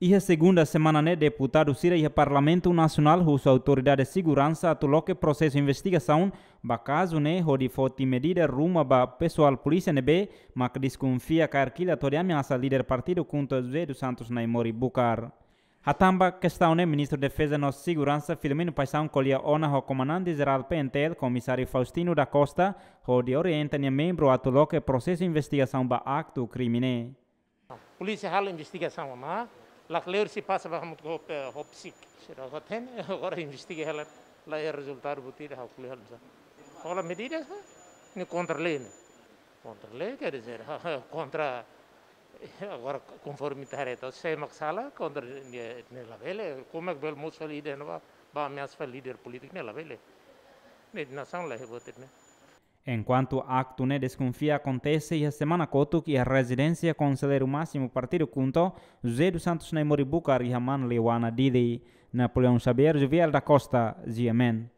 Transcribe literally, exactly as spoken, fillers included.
Iha segunda semana ne'e, deputadu sira iha Parlamentu Nasionál husu autoridade seguransa atu loke prosesu investigasaun ba kazu ne'e, hodi foti medida ruma ba pesoál polísia ne'ebé mak deskonfia kaer kilat hodi ameasa líder partidu KHUNTO José dos Santos Naimori Bucar. Hatán ba kestaun ne'e, Ministru Defeza no Seguransa Filomeno Paixão ko'alia ona ho Komandante Jerál P N T L, Komisáriu Faustino da Costa, hodi orienta nia membru atu loke prosesu investigasaun ba aktu krime ne'e. Polísia halo investigasaun ona, la kleur se pasa ba hamutuk ho, eh, ho psik. Sira agora tem, agora investiga hela, la iha rezultadu buat ida, ha'u ko'alia halo. Hola medida, ne'e kontra lei ne'e. Kontra lei, quer dizer, kontra, agora konforme tareta, se mak sala, kontra ne'e, ne'e labele, komu é que bele mosu líder, ne'e ba, ba ameasa líder polítiku, ne'e labele. Ne'e nasaun la iha buat ida ne'e. Enkuantu aktu ne'e deskonfia akontese iha semana kotuk iha rezidénsia Konselleiru Másimu Partidu KHUNTO, José dos Santos Naimori Bucar iha Manleuana, Dili. Napoleão Xavier, Juvial da Costa, G M N.